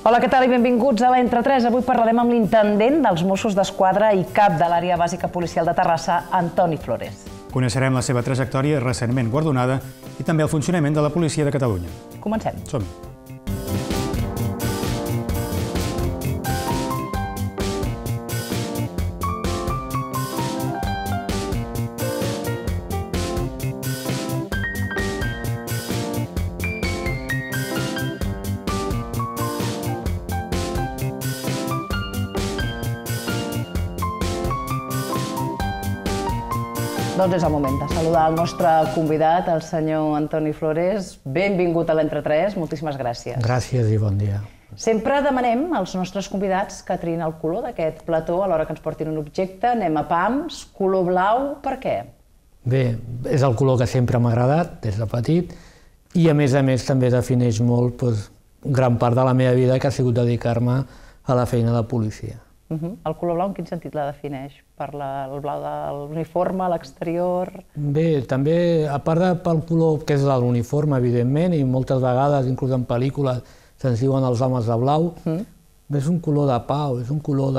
Hola, què tal i benvinguts a l'Entre 3. Avui parlarem amb l'intendent dels Mossos d'Esquadra i cap de l'Àrea Bàsica Policial de Terrassa, Antoni Flores. Coneixerem la seva trajectòria recentment guardonada i també el funcionament de la Policia de Catalunya. Comencem. Som-hi. Doncs és el moment de saludar el nostre convidat, el senyor Antoni Flores. Benvingut a l'Entre 3, moltíssimes gràcies. Gràcies i bon dia. Sempre demanem als nostres convidats que triïn el color d'aquest plató a l'hora que ens portin un objecte. Anem a pams, color blau, per què? Bé, és el color que sempre m'ha agradat des de petit i a més també defineix molt gran part de la meva vida que ha sigut dedicar-me a la feina de policia. El color blau en quin sentit la defineix? Per el blau de l'uniforme, l'exterior? Bé, també, a part pel color que és de l'uniforme, evidentment, i moltes vegades, inclús en pel·lícules, se'ns diuen els homes de blau, és un color de pau, és un color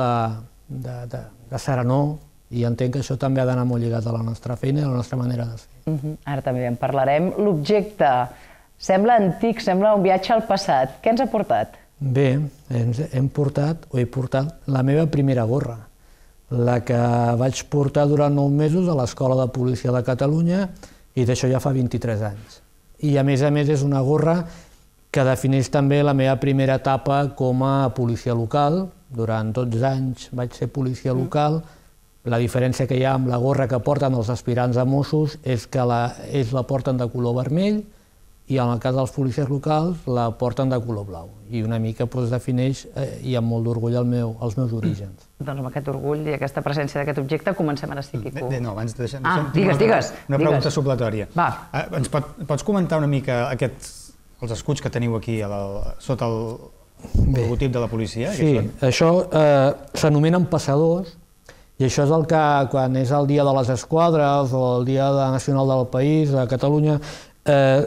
de serenor, i entenc que això també ha d'anar molt lligat a la nostra feina i a la nostra manera de ser. Ara també en parlarem. L'objecte sembla antic, sembla un viatge al passat. Què ens ha portat? Bé, he portat la meva primera gorra, la que vaig portar durant 9 mesos a l'Escola de Policia de Catalunya i d'això ja fa 23 anys. I a més és una gorra que defineix també la meva primera etapa com a policia local. Durant 12 anys vaig ser policia local. La diferència que hi ha amb la gorra que porten els aspirants a Mossos és que ells la porten de color vermell i en el cas dels policies locals la porten de color blau. I una mica defineix, i amb molt d'orgull, els meus orígens. Doncs amb aquest orgull i aquesta presència d'aquest objecte comencem ara sí, Quico. Bé, no, abans de deixar... Digues. Una pregunta supletòria. Va. Ens pots comentar una mica els escuts que teniu aquí sota el logotip de la policia? Sí, això s'anomenen passadors i això és el que quan és el dia de les esquadres o el dia nacional del país, de Catalunya,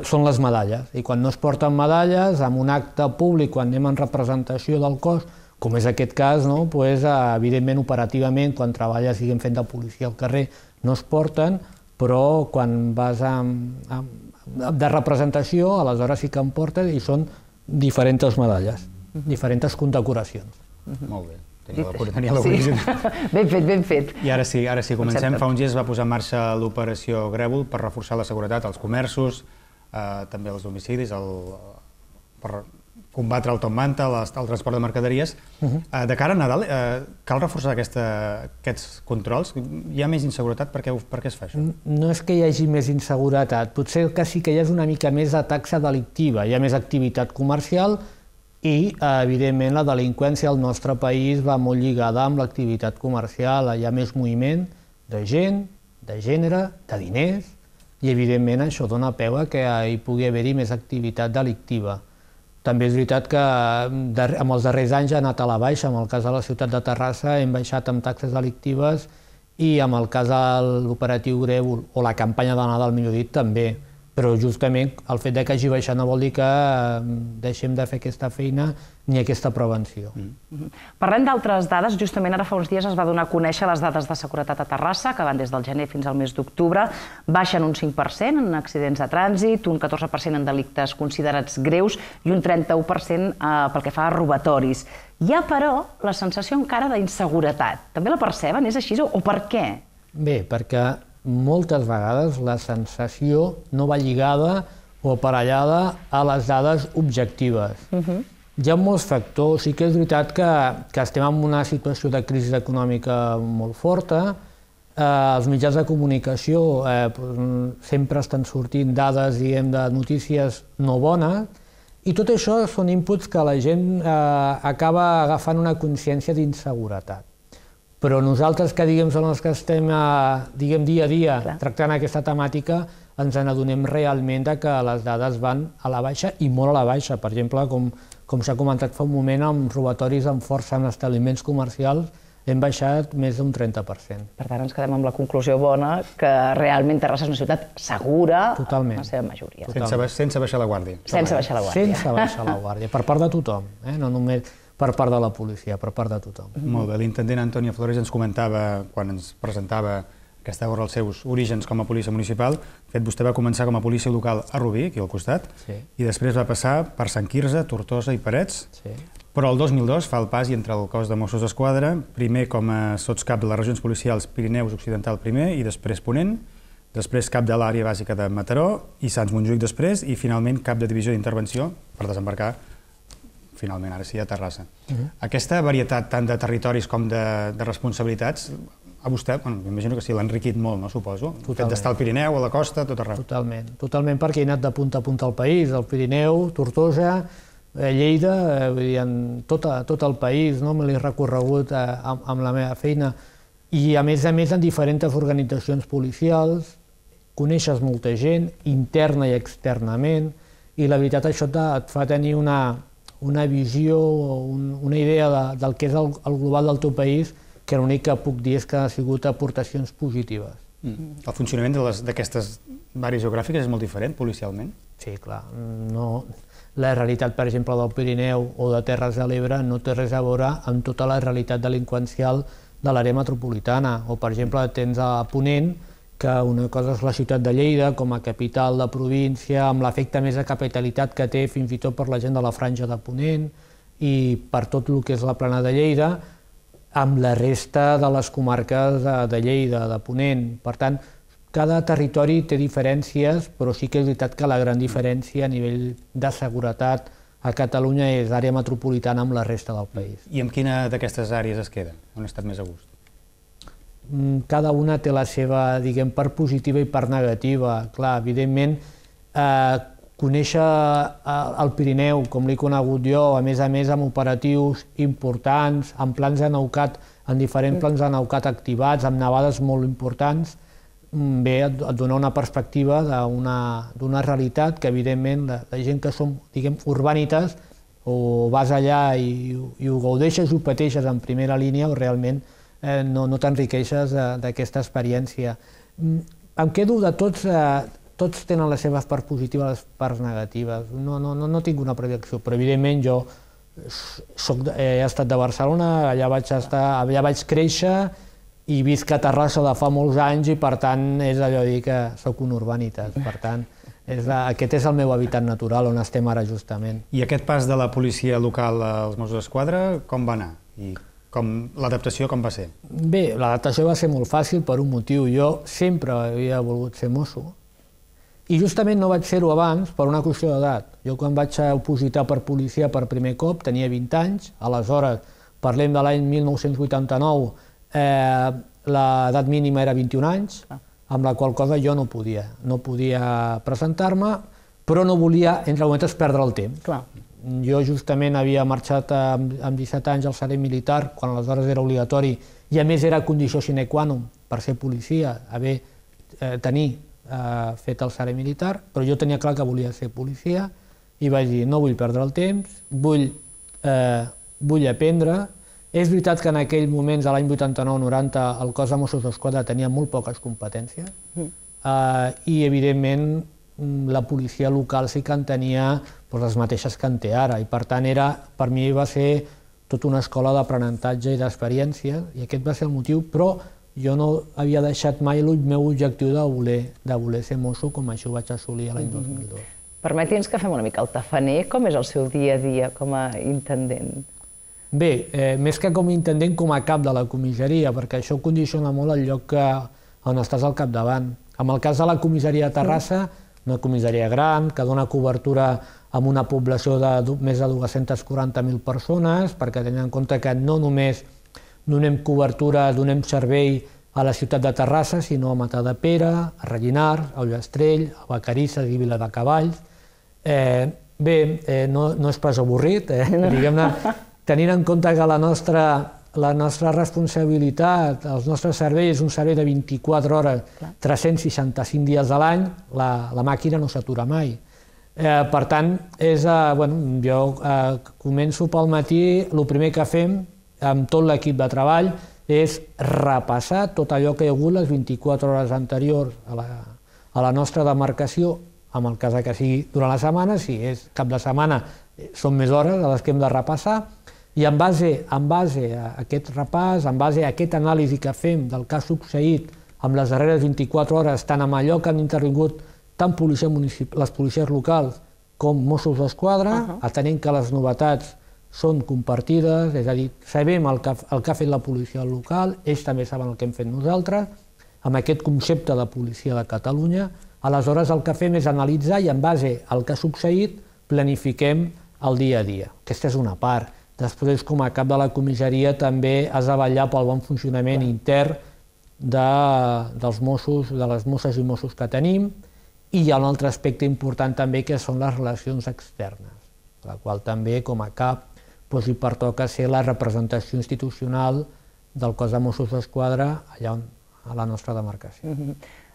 són les medalles, i quan no es porten medalles, en un acte públic, quan anem en representació del cos, com és aquest cas, evidentment operativament, quan treballes fent de policia al carrer, no es porten, però quan vas de representació, aleshores sí que en portes, i són diferents medalles, diferents condecoracions. Molt bé. Tenia l'origen. Ben fet. I ara sí, comencem. Fa uns dies es va posar en marxa l'operació Grèvol per reforçar la seguretat als comerços, també als domicilis, per combatre el top manta, el transport de mercaderies. De cara a Nadal, cal reforçar aquests controls? Hi ha més inseguretat? Per què es fa això? No és que hi hagi més inseguretat, potser que sí que hi ha una mica més de taxa delictiva, hi ha més activitat comercial i, evidentment, la delinqüència al nostre país va molt lligada amb l'activitat comercial. Hi ha més moviment de gent, de gènere, de diners, i, evidentment, això dona peu a que hi pugui haver-hi més activitat delictiva. També és veritat que en els darrers anys ha anat a la baixa. En el cas de la ciutat de Terrassa hem baixat amb taxes delictives i en el cas de l'operatiu Grèvol o la campanya de Nadal, millor dit, també. Però justament el fet que hagi baixat no vol dir que deixem de fer aquesta feina ni aquesta prevenció. Parlem d'altres dades. Justament ara fa uns dies es va donar a conèixer les dades de seguretat a Terrassa, que van des del gener fins al mes d'octubre. Baixen un 5% en accidents de trànsit, un 14% en delictes considerats greus i un 31% pel que fa a robatoris. Hi ha, però, la sensació encara d'inseguretat. També la perceben? És així o per què? Bé, perquè moltes vegades la sensació no va lligada o aparellada a les dades objectives. Hi ha molts factors. Sí que és veritat que estem en una situació de crisi econòmica molt forta. Els mitjans de comunicació sempre estan sortint dades, diguem, de notícies no bones, i tot això són inputs que la gent acaba agafant una consciència d'inseguretat. Però nosaltres, que som els que estem dia a dia tractant aquesta temàtica, ens n'adonem realment que les dades van a la baixa i molt a la baixa. Per exemple, com s'ha comentat fa un moment, amb robatoris amb força en establiments comercials hem baixat més d'un 30%. Per tant, ens quedem amb la conclusió bona que realment Terrassa és una ciutat segura en la seva majoria. Sense baixar la guàrdia. Sense baixar la guàrdia. Sense baixar la guàrdia, per part de tothom, no només per part de la policia, per part de tothom. Molt bé, l'intendent Antonio Flores ens comentava, quan ens presentava aquesta obra, els seus orígens com a policia municipal. De fet, vostè va començar com a policia local a Rubí, aquí al costat, i després va passar per Sant Quirze, Tortosa i Parets, però el 2002 fa el pas i entra al cos de Mossos d'Esquadra, primer com a sotscap de les regions policials Pirineus Occidental primer i després Ponent, després cap de l'àrea bàsica de Mataró i Sants Montjuïc després i finalment cap de divisió d'intervenció per desembarcar finalment, ara sí, a Terrassa. Aquesta varietat tant de territoris com de responsabilitats, a vostè, m'imagino que sí, l'ha enriquit molt, no, suposo? El fet d'estar al Pirineu, a la costa, tot arreu. Totalment, perquè he anat de punta a punta al país, al Pirineu, Tortosa, Lleida, tot el país, me l'he recorregut amb la meva feina. I a més en diferents organitzacions policials, coneixes molta gent, interna i externament, i la veritat això et fa tenir una visió, una idea del que és el global del teu país, que l'únic que puc dir és que ha sigut aportacions positives. El funcionament d'aquestes àrees geogràfiques és molt diferent, policialment? Sí, clar. La realitat, per exemple, del Pirineu o de Terres de l'Ebre no té res a veure amb tota la realitat delinqüencial de l'àrea metropolitana. O, per exemple, tens a Ponent, que una cosa és la ciutat de Lleida com a capital de província, amb l'efecte més de capitalitat que té fins i tot per la gent de la franja de Ponent i per tot el que és la plana de Lleida, amb la resta de les comarques de Lleida, de Ponent. Per tant, cada territori té diferències, però sí que és veritat que la gran diferència a nivell de seguretat a Catalunya és àrea metropolitana amb la resta del país. I amb quina d'aquestes àrees es queda? On ha estat més a gust? Cada una té la seva, diguem, part positiva i part negativa. Clar, evidentment, conèixer el Pirineu, com l'he conegut jo, a més amb operatius importants, amb plans de Neucat, amb diferents plans de Neucat activats, amb nevades molt importants, bé, et dona una perspectiva d'una realitat que, evidentment, la gent que som, diguem, urbanites, o vas allà i ho gaudeixes, ho pateixes en primera línia, o realment no t'enriqueixes d'aquesta experiència. Em quedo de tots tenen les seves parts positives i les parts negatives. No tinc una predicció, però evidentment jo he estat de Barcelona, allà vaig créixer i visc a Terrassa de fa molts anys i per tant és allò de dir que soc un urbanitas. Per tant, aquest és el meu hàbitat natural on estem ara justament. I aquest pas de la policia local als Mossos d'Esquadra com va anar? I l'adaptació com va ser? Bé, l'adaptació va ser molt fàcil per un motiu. Jo sempre havia volgut ser mosso. I justament no vaig fer-ho abans per una qüestió d'edat. Jo quan vaig opositar per policia per primer cop tenia 20 anys, aleshores parlem de l'any 1989, l'edat mínima era 21 anys, amb la qual cosa jo no podia presentar-me, però no volia, entre moments, perdre el temps. Jo justament havia marxat amb 17 anys al servei militar, quan aleshores era obligatori, i a més era condició sine qua non per ser policia, tenir fet el servei militar, però jo tenia clar que volia ser policia i vaig dir, no vull perdre el temps, vull aprendre. És veritat que en aquells moments, a l'any 89-90, el cos de Mossos d'Esquadra tenia molt poques competències i, evidentment, la policia local sí que en tenia les mateixes que en té ara i, per tant, per mi va ser tota una escola d'aprenentatge i d'experiència i aquest va ser el motiu, però jo no havia deixat mai el meu objectiu de voler ser mosso, com això ho vaig assolir l'any 2002. Permeti'ns que fem una mica el tafaner. Com és el seu dia a dia com a intendent? Bé, més que com a intendent, com a cap de la comissaria, perquè això condiciona molt el lloc on estàs al capdavant. En el cas de la comissaria de Terrassa, una comissaria gran, que dona cobertura amb una població de més de 240.000 persones, perquè tenen en compte que no només donem cobertura, donem servei a la ciutat de Terrassa, sinó a Matadepera, a Rellinars, a Ullastrell, a Vacarisses i Viladecavalls. Bé, no és pas avorrit, diguem-ne, tenint en compte que la nostra responsabilitat, els nostres serveis, és un servei de 24 hores, 365 dies a l'any, la màquina no s'atura mai. Per tant, jo començo pel matí, el primer que fem, amb tot l'equip de treball, és repassar tot allò que hi ha hagut les 24 hores anteriors a la nostra demarcació, en el cas que sigui durant la setmana, si és cap de setmana són més hores a les que hem de repassar, i en base a aquest repàs, en base a aquest anàlisi que fem del que ha succeït amb les darreres 24 hores, tant amb allò que han intervingut tant les policies locals com Mossos d'Esquadra, atenent que les novetats són compartides, és a dir, sabem el que ha fet la policia local, ells també saben el que hem fet nosaltres, amb aquest concepte de policia de Catalunya. Aleshores el que fem és analitzar i en base al que ha succeït planifiquem el dia a dia. Aquesta és una part. Després, com a cap de la comissaria, també has de vetllar pel bon funcionament intern dels Mossos, de les Mosses i Mossos que tenim, i hi ha un altre aspecte important també que són les relacions externes, la qual també com a cap hi pertoca ser la representació institucional del cos de Mossos d'Esquadra allà a la nostra demarcació.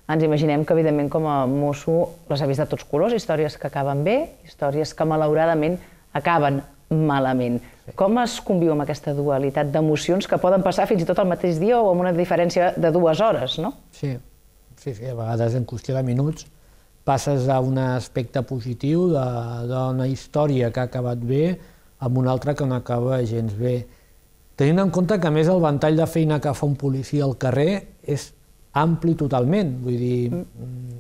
Ens imaginem que, evidentment, com a mosso les ha vist de tots colors, històries que acaben bé, històries que, malauradament, acaben malament. Com es conviu amb aquesta dualitat d'emocions que poden passar fins i tot el mateix dia o amb una diferència de 2 hores, no? Sí, a vegades en qüestió de minuts passes a un aspecte positiu d'una història que ha acabat bé amb una altra que no acaba gens bé. Tenint en compte que, a més, el ventall de feina que fa un policia al carrer és ampli totalment. Vull dir,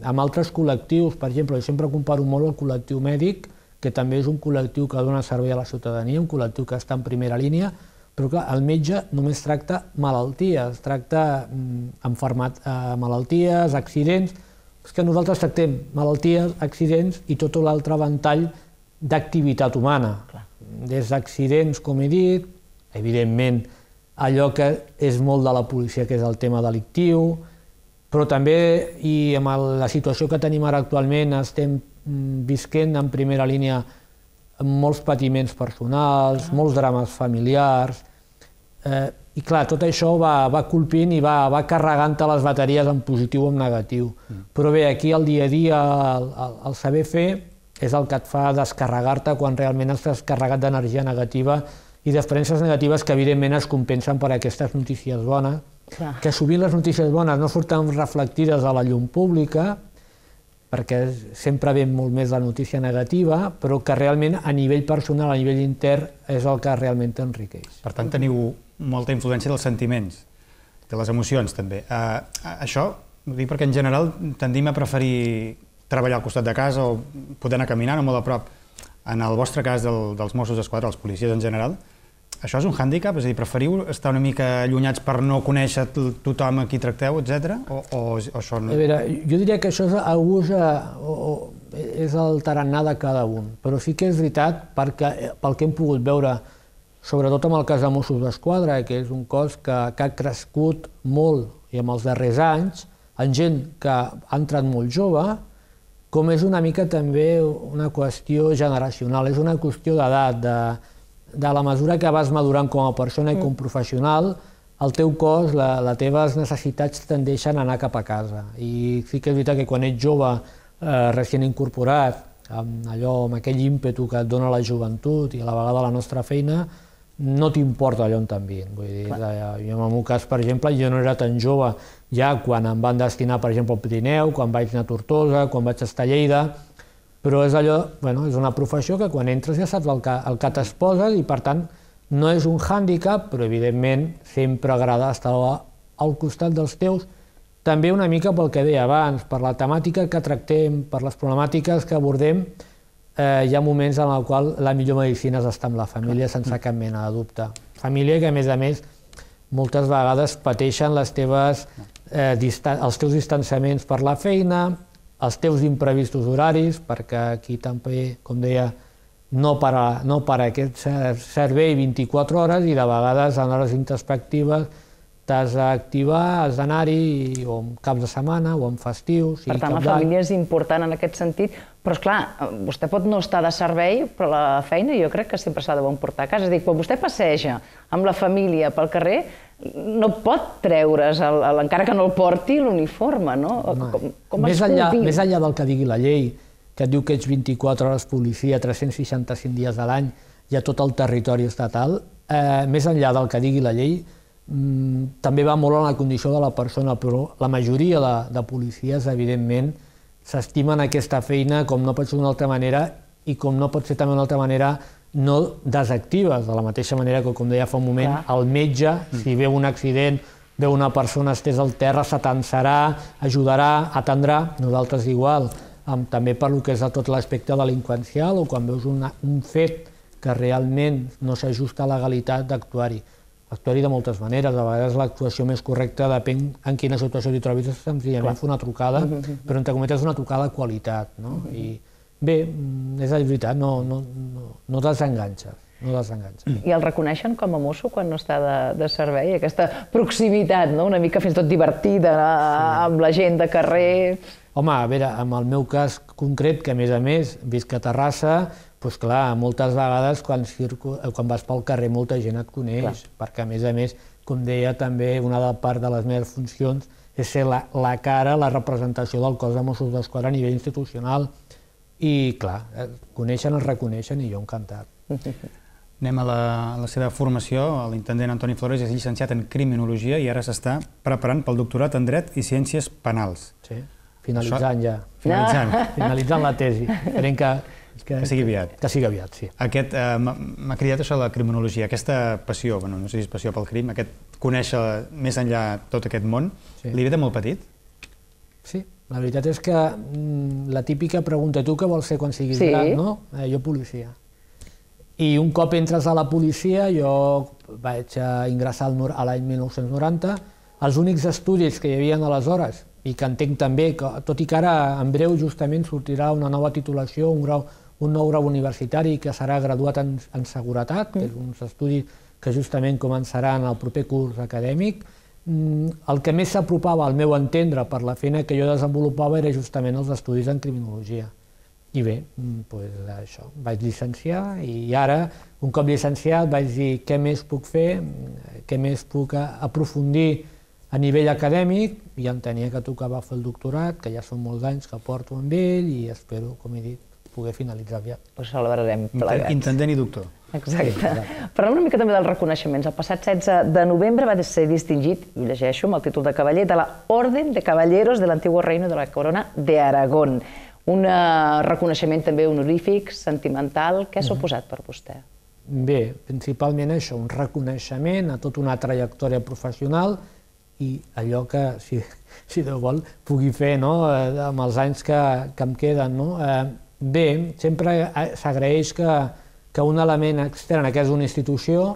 amb altres col·lectius, per exemple, jo sempre comparo molt el col·lectiu mèdic, que també és un col·lectiu que dona servei a la ciutadania, un col·lectiu que està en primera línia, però clar, el metge només tracta malalties, tracta malalties, accidents. És que nosaltres tractem malalties, accidents i tot l'altre ventall d'activitat humana. Des d'accidents, com he dit, evidentment allò que és molt de la policia, que és el tema delictiu, però també, i amb la situació que tenim ara actualment, estem visquent en primera línia molts patiments personals, molts drames familiars, i clar, tot això va colpint i va carregant les bateries en positiu o en negatiu. Però bé, aquí el dia a dia, el saber fer, és el que et fa descarregar-te quan realment estàs carregat d'energia negativa i d'experiències negatives que evidentment es compensen per aquestes notícies bones, que sovint les notícies bones no surten reflectides a la llum pública, perquè sempre ve molt més la notícia negativa, però que realment a nivell personal, a nivell intern, és el que realment t'enriqueix. Per tant, teniu molta influència dels sentiments, de les emocions també. Això ho dic perquè en general tendim a preferir treballar al costat de casa o poder anar caminant o molt a prop. En el vostre cas dels Mossos d'Esquadra, els policies en general, això és un hàndicap? És a dir, preferiu estar una mica allunyats per no conèixer tothom a qui tracteu, etc? O això no? A veure, jo diria que això és el tarannà de cada un, però sí que és veritat pel que hem pogut veure, sobretot amb el cas de Mossos d'Esquadra, que és un cos que ha crescut molt i en els darrers anys, en gent que ha entrat molt jove, com és una mica també una qüestió generacional, és una qüestió d'edat, de la mesura que vas madurant com a persona i com a professional, el teu cos, les teves necessitats tendeixen a anar cap a casa. I sí que és veritat que quan ets jove, recient incorporat, amb aquell ímpetu que et dona la joventut i a la vegada la nostra feina, no t'importa allò on t'envien. Vull dir, jo en el meu cas, per exemple, jo no era tan jove ja quan em van destinar, per exemple, al Pirineu, quan vaig anar a Tortosa, quan vaig estar a Lleida, però és allò, és una professió que quan entres ja saps el que t'exposes i, per tant, no és un hàndicap, però evidentment sempre agrada estar al costat dels teus, també una mica pel que deia abans, per la temàtica que tractem, per les problemàtiques que abordem. Hi ha moments en els quals la millor medicina és estar amb la família sense cap mena de dubte. Família que, a més, moltes vegades pateixen els teus distanciaments per la feina, els teus imprevistos horaris, perquè aquí també, com deia, no para aquest servei 24 hores i de vegades en hores introspectives t'has d'activar, has d'anar-hi o en caps de setmana o en festius. Per tant, la família és important en aquest sentit, però esclar, vostè pot no estar de servei, però la feina jo crec que sempre s'ha de portar a casa. És a dir, quan vostè passeja amb la família pel carrer, no pot treure's, encara que no el porti, l'uniforme, no? Més enllà del que digui la llei, que et diu que ets 24 hores policia, 365 dies a l'any, i a tot el territori estatal, més enllà del que digui la llei, també va molt en la condició de la persona, però la majoria de policies, evidentment, s'estimen aquesta feina com no pot ser d'una altra manera i com no pot ser també d'una altra manera no desactives, de la mateixa manera que, com deia fa un moment, el metge, si veu un accident, veu una persona estesa al terra, s'atensarà, ajudarà, atendrà, nosaltres igual, també per lo que és tot l'aspecte delinqüencial o quan veus un fet que realment no s'ajusta a la legalitat d'actuar-hi. Actuar-hi de moltes maneres, a vegades l'actuació més correcta depèn en quina situació t'hi trobis, és senzillament fer una trucada, però entre cometes una trucada de qualitat. I bé, és la veritat, no desenganxes. I el reconeixen com a mosso quan no està de servei? Aquesta proximitat, una mica fins i tot divertida amb la gent de carrer... Home, a veure, en el meu cas concret, que a més visc a Terrassa, doncs clar, moltes vegades quan vas pel carrer molta gent et coneix, perquè a més, com deia també, una part de les meves funcions és ser la cara, la representació del cos de Mossos d'Esquadra a nivell institucional. I clar, coneixen, es reconeixen i jo encantat. Anem a la seva formació. L'intendent Antoni Flores és llicenciat en Criminologia i ara s'està preparant pel doctorat en Dret i Ciències Penals. Sí, finalitzant ja. Finalitzant la tesi. Esperem que sigui aviat. Que sigui aviat, sí. M'ha cridat això de la criminologia, aquesta passió, no sé si és passió pel crim, aquest conèixer més enllà tot aquest món, li ve de molt petit? Sí, la veritat és que la típica pregunta, tu què vols ser quan siguis gran, no? Jo policia. I un cop entres a la policia, jo vaig ingressar a l'any 1990, els únics estudis que hi havia aleshores, i que entenc també, tot i que ara en breu justament sortirà una nova titulació, un nou grau universitari que serà graduat en seguretat, que és uns estudis que justament començaran el proper curs acadèmic. El que més s'apropava al meu entendre per la feina que jo desenvolupava era justament els estudis en criminologia. I bé, doncs això, vaig llicenciar i ara, un cop llicenciat, vaig dir què més puc fer, què més puc aprofundir a nivell acadèmic, i entenia que tocava fer el doctorat, que ja són molts anys que porto amb ell i espero, com he dit, poder finalitzar aviat. Ho celebrarem plegats. Intendent i doctor. Exacte. Parlem una mica també dels reconeixements. El passat 16 de novembre va ser distingit, i ho llegeixo amb el títol de cavaller, de la Orden de Caballeros del Antiguo Reino de la Corona de Aragón. Un reconeixement també honorífic, sentimental. Què ha suposat per vostè? Bé, principalment això, un reconeixement a tota una trajectòria professional i allò que, si Déu vol, pugui fer amb els anys que em queden. Bé, sempre s'agraeix que un element extern, que és una institució,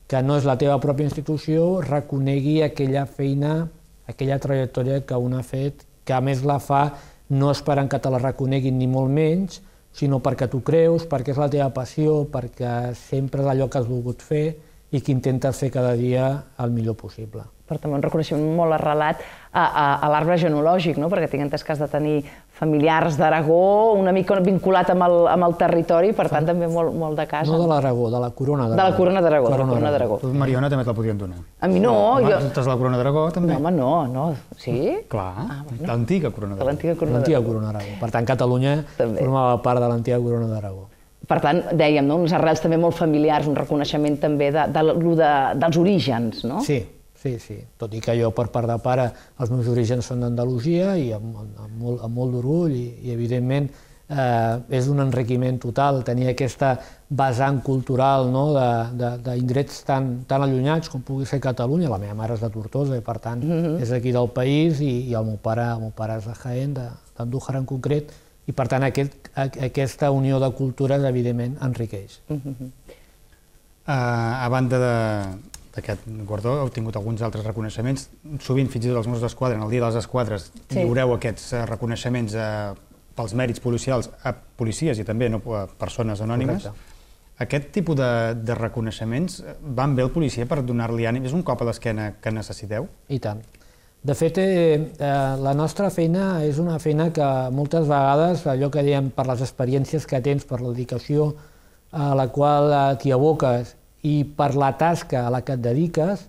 que no és la teva pròpia institució, reconegui aquella feina, aquella trajectòria que un ha fet, que a més la fa no esperant que te la reconeguin ni molt menys, sinó perquè tu creus, perquè és la teva passió, perquè sempre és allò que has volgut fer i que intentes fer cada dia el millor possible. Però també un reconeixement molt arrelat a l'arbre genealògic, perquè tinc entès que has de tenir familiars d'Aragó, una mica vinculat amb el territori, per tant també molt de casa. No de l'Aragó, de la Corona d'Aragó. De la Corona d'Aragó. Tu, Mariona, també te la podien donar. A mi no. Tu ets la Corona d'Aragó, també? No, home, no. Sí? Clar, l'antiga Corona d'Aragó. L'antiga Corona d'Aragó. Per tant, Catalunya formava part de l'antiga Corona d'Aragó. Per tant, dèiem, unes arrels també molt familiars, un reconeixement també dels orígens, no? Sí, tot i que jo per part de pare els meus orígens són d'Andalusia i amb molt d'orgull i evidentment és un enriquiment total tenir aquesta vessant cultural d'indrets tan allunyats com pugui ser Catalunya. La meva mare és de Tortosa i per tant és aquí del país i el meu pare és de Jaén, d'Andújar en concret, i per tant aquesta unió de cultures evidentment enriqueix. A banda d'aquest guardó, heu tingut alguns altres reconeixements. Sovint, fins i tot els Mossos d'Esquadra, en el Dia de les Esquadres, lliureu aquests reconeixements pels mèrits policials a policies i també a persones anònimes. Aquest tipus de reconeixements van bé al policia per donar-li ànim? És un cop a l'esquena que necessiteu? I tant. De fet, la nostra feina és una feina que moltes vegades, allò que dèiem per les experiències que tens, per la dedicació a la qual t'hi aboques i per la tasca a la que et dediques,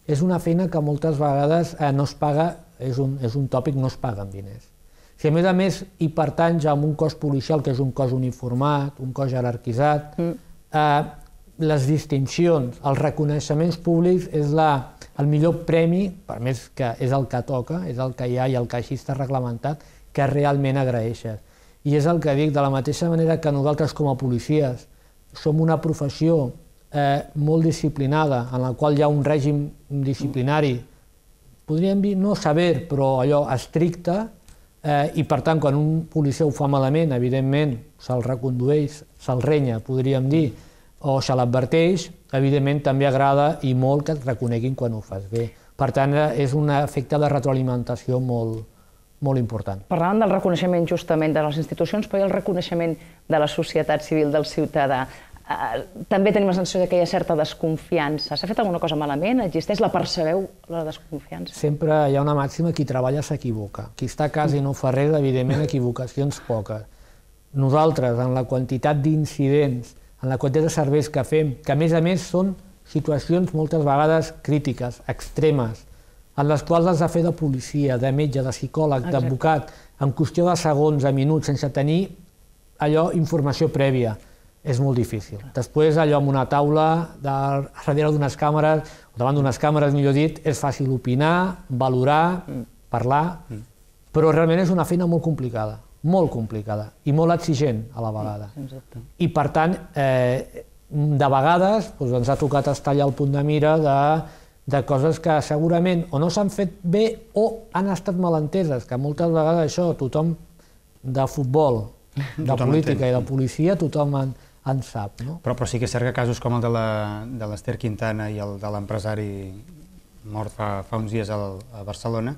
és una feina que moltes vegades no es paga, és un tòpic, no es paga amb diners. Si a més hi pertanys a un cos policial, que és un cos uniformat, un cos jerarquitzat, les distincions, els reconeixements públics és el millor premi, per més que és el que toca, és el que hi ha i el que així està reglamentat, que realment agraeixes. I és el que dic, de la mateixa manera que nosaltres com a policies som una professió molt disciplinada, en la qual hi ha un règim disciplinari, podríem dir no sever, però allò estricte, i per tant, quan un policia ho fa malament, evidentment se'l recondueix, se'l renya, podríem dir, o se l'adverteix, evidentment també agrada i molt que et reconeguin quan ho fas bé. Per tant, és un efecte de retroalimentació molt important. Parlàvem del reconeixement justament de les institucions, però hi ha el reconeixement de la societat civil, del ciutadà. També tenim la sensació que hi ha certa desconfiança. S'ha fet alguna cosa malament? Existeix? La percebeu, la desconfiança? Sempre hi ha una màxima: qui treballa s'equivoca. Qui està a casa i no fa res, evidentment, equivocacions poques. Nosaltres, en la quantitat d'incidents, en la quantitat de serveis que fem, que a més són situacions moltes vegades crítiques, extremes, en les quals has de fer de policia, de metge, de psicòleg, d'advocat, en qüestió de segons, de minuts, sense tenir allò informació prèvia. És molt difícil. Després, allò amb una taula, darrere d'unes càmeres, o davant d'unes càmeres, millor dit, és fàcil opinar, valorar, parlar, però realment és una feina molt complicada i molt exigent a la vegada. I per tant, de vegades ens ha tocat estar allà al punt de mira de coses que segurament o no s'han fet bé o han estat malenteses, que moltes vegades això, tothom de futbol, de política i de policia, tothom en sap. Però sí que és cert que casos com el de l'Ester Quintana i el de l'empresari mort fa uns dies a Barcelona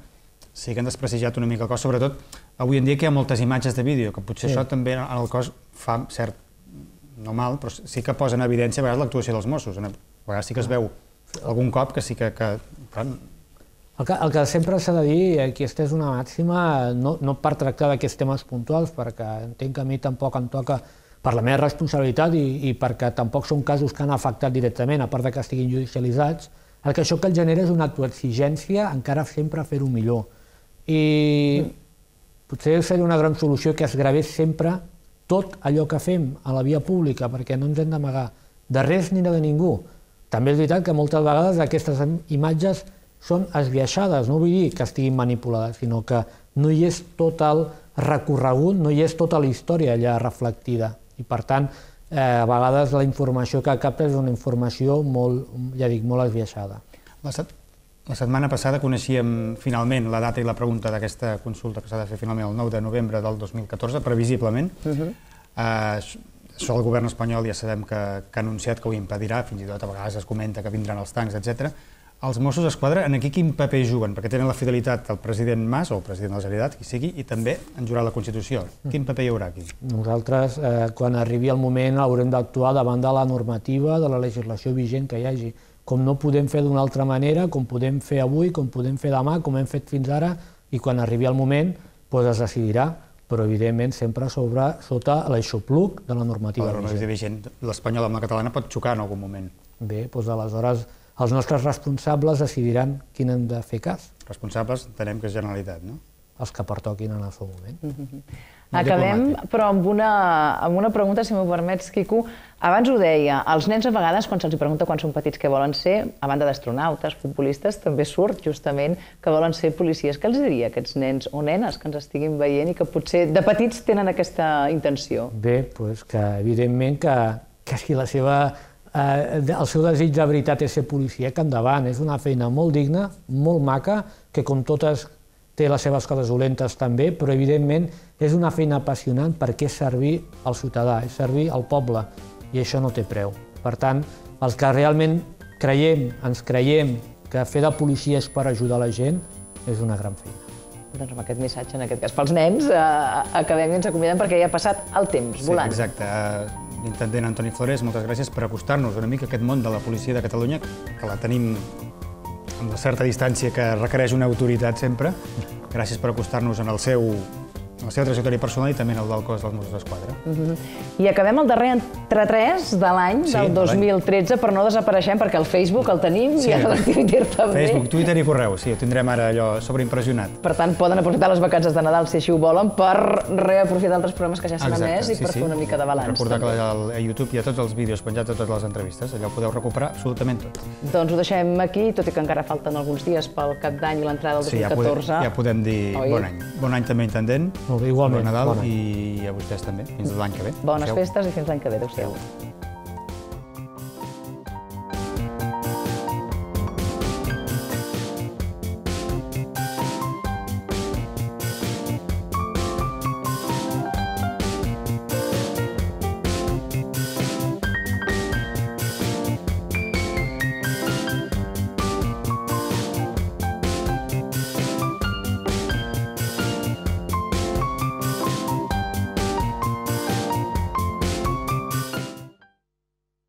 sí que han desprestigiat una mica el cos, sobretot avui en dia que hi ha moltes imatges de vídeo, que potser això també en el cos fa cert, no mal, però sí que posa en evidència a vegades l'actuació dels Mossos. A vegades sí que es veu algun cop que sí que... El que sempre s'ha de dir, i aquesta és una màxima, no per tractar d'aquests temes puntuals, perquè entenc que a mi tampoc em toca per la meva responsabilitat i perquè tampoc són casos que han afectat directament, a part que estiguin judicialitzats, el que això que el genera és una autoexigència encara sempre a fer-ho millor. I potser seria una gran solució que es gravés sempre tot allò que fem a la via pública, perquè no ens hem d'amagar de res ni de ningú. També és veritat que moltes vegades aquestes imatges són esbiaixades, no vull dir que estiguin manipulades, sinó que no hi és tot el recorregut, no hi és tota la història allà reflectida. I per tant, a vegades la informació que capta és una informació molt, ja dic, molt esbiaixada. La setmana passada coneixíem finalment la data i la pregunta d'aquesta consulta que s'ha de fer finalment el 9 de novembre del 2014, previsiblement. Això el govern espanyol ja sabem que ha anunciat que ho impedirà, fins i tot a vegades es comenta que vindran els tancs, etc. Els Mossos d'Esquadra, en aquí quin paper juguen? Perquè tenen la fidelitat del president Mas, o el president de la Generalitat, qui sigui, i també en jurar la Constitució. Quin paper hi haurà aquí? Nosaltres, quan arribi el moment, haurem d'actuar davant de la normativa, de la legislació vigent que hi hagi. Com no podem fer d'una altra manera, com podem fer avui, com podem fer demà, com hem fet fins ara, i quan arribi el moment es decidirà, però evidentment sempre sota l'aixopluc de la normativa vigent. L'espanyol amb la catalana pot xocar en algun moment. Bé, doncs aleshores els nostres responsables decidiran quin hem de fer cas. Responsables entenem que és Generalitat, no? Els que pertoquin en el seu moment. Acabem, però amb una pregunta, si m'ho permets, Quico. Abans ho deia, els nens a vegades, quan se'ls pregunta quan són petits què volen ser, a banda d'astronautes, futbolistes, també surt justament que volen ser policies. Què els diria a aquests nens o nenes que ens estiguin veient i que potser de petits tenen aquesta intenció? Bé, doncs que evidentment que si el seu desig de veritat és ser policia, que endavant. És una feina molt digna, molt maca, que com totes té les seves coses dolentes també, però evidentment és una feina apassionant perquè és servir al ciutadà, és servir al poble, i això no té preu. Per tant, els que realment ens creiem que fer de policia és per ajudar la gent, és una gran feina. Doncs amb aquest missatge, en aquest cas pels nens, acabem i ens acomiadem perquè ja ha passat el temps, volant. Sí, exacte. L'intendent Antoni Flores, moltes gràcies per acostar-nos una mica a aquest món de la policia de Catalunya, que la tenim amb una certa distància que requereix una autoritat sempre. Gràcies per acostar-nos en el seu la seva trajectòria personal i també el del cos dels Mossos d'Esquadra. I acabem el darrer entre 3 de l'any, del 2013, per no desapareixem, perquè el Facebook el tenim i el Twitter també. Facebook, Twitter i correu, sí, ho tindrem ara allò sobreimpressionat. Per tant, poden aprofitar les vacances de Nadal, si així ho volen, per reaprofitar altres programes que ja s'han emès i per fer una mica de balanç. Recordar que a YouTube hi ha tots els vídeos penjats de totes les entrevistes, allò ho podeu recuperar absolutament tot. Doncs ho deixem aquí, tot i que encara falten alguns dies pel Cap d'Any i l'entrada del 2014. Sí, ja podem dir bon any. Bon any també, intendent. Igualment. Bon Nadal i a vostès també, fins l'any que ve. Bones festes i fins l'any que ve. Adéu-siau.